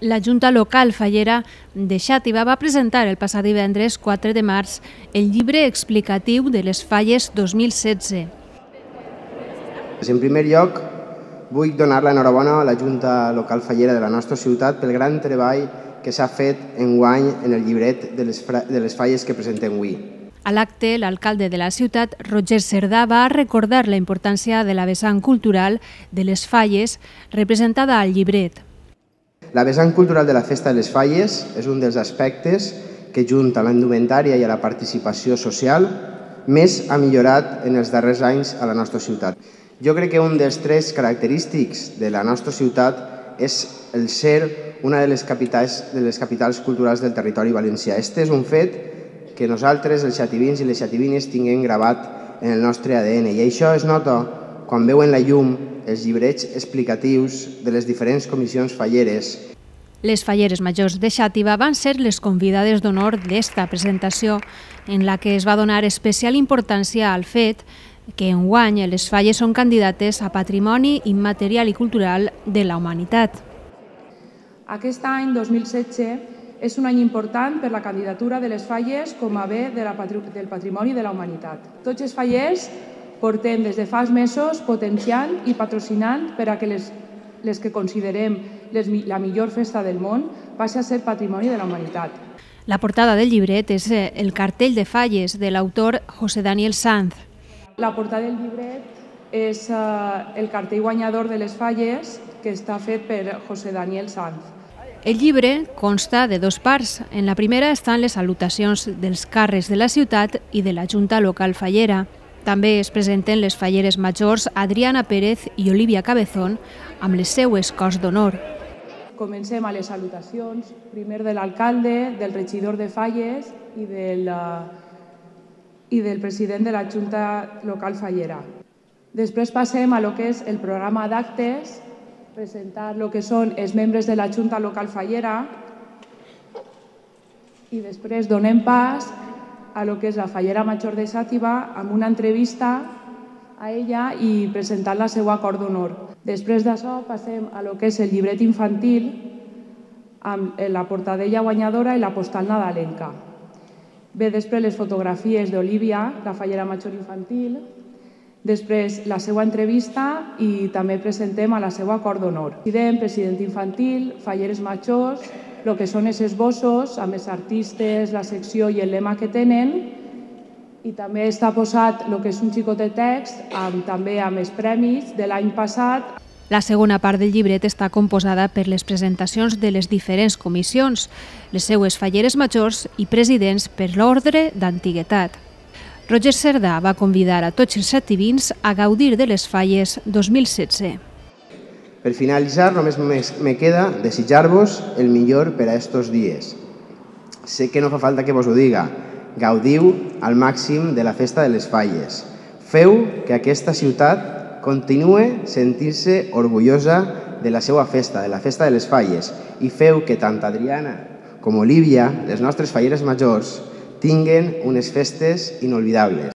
La Junta Local Fallera de Xàtiva va presentar el passat divendres 4 de març el llibre explicatiu de les falles 2016. En primer lloc, vull donar l'enhorabona a la Junta Local Fallera de la nostra ciutat pel gran treball que s'ha fet enguany en el llibret de les falles que presentem avui. A l'acte, l'alcalde de la ciutat, Roger Cerdà, va recordar la importància de la vessant cultural de les falles representada al llibret. La vessant cultural de la Festa de les Falles és un dels aspectes que, junt a la indumentària i a la participació social, més ha millorat en els darrers anys a la nostra ciutat. Jo crec que un dels trets característics de la nostra ciutat és el ser una de les capitals culturals del territori valencià. Este és un fet que nosaltres, els xativins i les xativines, tinguem gravat en el nostre ADN i això es nota quan veuen la llum els llibrets explicatius de les diferents comissions falleres. Les falleres majors de Xàtiva van ser les convidades d'honor d'esta presentació, en la que es va donar especial importància al fet que enguany les falles són candidates a Patrimoni Immaterial i Cultural de la Humanitat. Aquest any, 2016, és un any important per la candidatura de les falles com a bé del Patrimoni de la Humanitat. Tots els fallers portem des de fa mesos potenciant i patrocinant per a que les que considerem la millor festa del món passi a ser Patrimoni de la Humanitat. La portada del llibret és el cartell de falles de l'autor José Daniel Sanz. La portada del llibret és el cartell guanyador de les falles que està fet per José Daniel Sanz. El llibre consta de dues parts. En la primera estan les salutacions dels càrrecs de la ciutat i de la Junta Local Fallera. També es presenten les falleres majors Adriana Pérez i Olivia Cabezón amb les seues cors d'honor. Comencem a les salutacions, primer de l'alcalde, del regidor de falles i del president de la Junta Local Fallera. Després passem a lo que és el programa d'actes, presentar el que són els membres de la Junta Local Fallera i després donem pas a lo que és la fallera major de Xàtiva amb una entrevista a ella i presentant la seva cor d'honor. Després d'això passem a lo que és el llibret infantil amb la portadella guanyadora i la postal nadalenca. Ve després les fotografies d'Olivia, la fallera major infantil, després la seva entrevista i també presentem a la seva cor d'honor. President infantil, falleres majors, el que són els esbossos amb els artistes, la secció i el lema que tenen i també està posat el que és un xicot de text també amb els premis de l'any passat. La segona part del llibret està composada per les presentacions de les diferents comissions, les seues falleres majors i presidents per l'ordre d'antiguitat. Roger Cerdà va convidar a tots els xativins a gaudir de les falles 2016. Per finalitzar, només me queda desitjar-vos el millor per a estos dies. Sé que no fa falta que vos ho diga. Gaudiu al màxim de la festa de les falles. Feu que aquesta ciutat continue sentint-se orgullosa de la seva festa, de la festa de les falles, i feu que tant Adriana com Olivia, les nostres falleres majors, tinguen unes festes inolvidables.